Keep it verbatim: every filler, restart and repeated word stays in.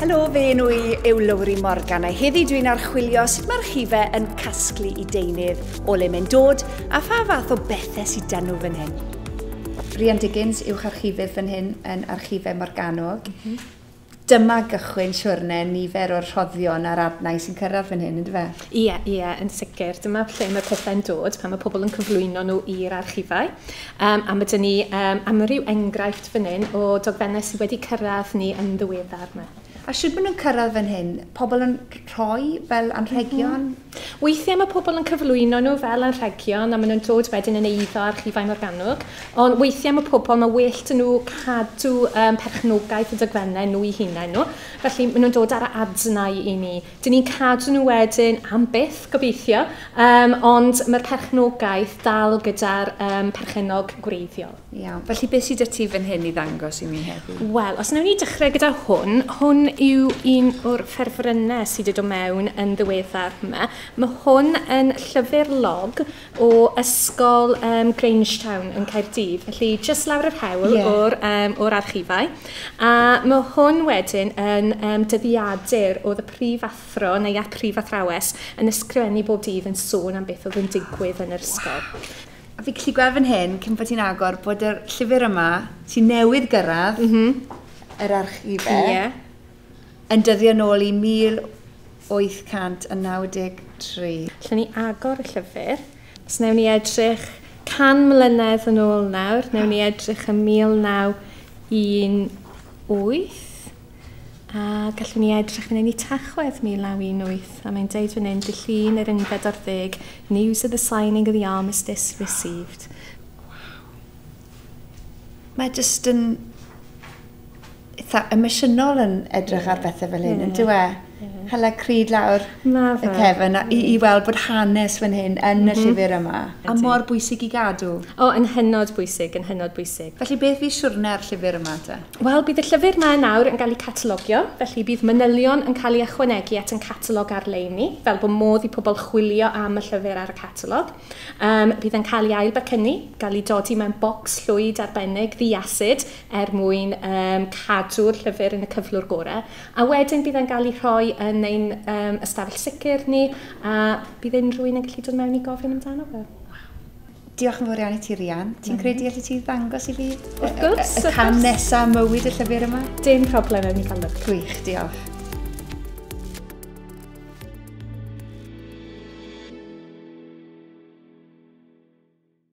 Helo, fy enw i yw Lowri Morgan a heddi dwi'n archwilio sut mae'r archifau yn casglu i deunydd, o le mae'n dod a pha fath o bethau sydd dan nhw fan hyn. Rhian Diggins, uwch archifydd fan hyn yn Archifau Morgannwg. Mm -hmm. Dyma gychwyn siwrne nifer o'r rhoddion a'r adnau sy'n cyrraedd fan hyn, ynddo fe? Ie, ie, yn sicr. Dyma lle mae pethau'n dod pan mae pobl yn cyflwyno nhw i'r archifau. Um, a mae dyn ni um, amryw enghraifft fan hyn o dogfennau sydd wedi cyrraedd ni yn ddiweddar yma. A sut maen nhw'n cyrraedd fan hyn? Pobl yn rhoi fel anrhegion? Mm -hmm. Weithiau mae pobl yn cyflwyno nhw fel anrhegion a maen nhw'n dod wedyn yn eiddo Archifau Morgannwg. Ond weithiau mae pobl, mae well 'da nhw cadw um, perchnogaeth y dogfennau nhw eu hunain nhw. Felly maen nhw'n dod ar y adnau i ni. Dyn ni'n cadw nhw wedyn am byth, gobeithio, um, ond mae'r perchnogaeth dal gyda'r um, perchennog gwreiddiol. Iawn. Felly beth sydd 'da ti fan hyn i ddangos i mi heddiw? Wel, os wnawn ni dechrau gyda hwn, hwn yw un o'r ffefrynnau sydd wedi dod mewn yn ddiweddar yma. Mae hwn yn llyfr log o ysgol um, Grangetown yn Caerdydd, felly jyst lawr yr hewl yeah. o'r, um, o'r archifau. A mae hwn wedyn yn um, dyddiadur oedd y prifathro neu a prifathrawes yn ysgrifennu bob dydd yn sôn am beth oedd yn digwydd yn yr ysgol. Wow. A fi gallu gweld fan hyn, cyn bod ti'n agor, bod yr llyfr yma sy'n newydd gyrraedd mm -hmm. yr archifau, yeah. yn dyddio nôl i mil wyth cant naw deg tri. Allen ni agor y llyfr. Os wnawn ni edrych can mlynedd yn ôl nawr, wnawn ni edrych ym mil naw un wyth. A gallwn ni edrych fan hyn i Tachwedd mil naw un wyth. A mae'n deud fan hyn, dydd Llun yr unfed ar ddeg, news of the signing of the armistice received. Wow. Mae jyst yn eitha emosiynol yn edrych ar bethau fel hyn, Ie. yn dyw e? Hala cryd lawr Ma y fe. cefn a, i, i weld bod hanes fan hyn yn y llyfr yma. A Ydi. mor bwysig i gadw. O, yn hynod bwysig, yn hynod bwysig. Felly beth fydd siwrne'r llyfr yma te? Wel, bydd y llyfr yma nawr yn cael ei catalogio, felly bydd manylion yn cael ei ychwanegu at yn catalog ar-lein ni, fel bod modd i pobl chwilio am y llyfr ar y catalog. Um, bydd yn cael ei ailbecynnu, gael ei dodi mewn bocs llwyd arbennig, ddi-acid, er mwyn um, cadw'r llyfr yn y cyflwr gorau. A wedyn bydd yn cael ei rhoi yn ein um, ystafell sicr ni, a bydd unrhyw un yn gallu dod mewn i gofyn amdano fe. Diolch yn fawr iawn i ti, Rhian. Ti'n credu allu ti ddangos i fi Wrth gwrs, y, y, y wrth cam gwrs. nesaf mywyd y llyfr yma? Dim problem, ewn ni gael look. Gwych, diolch.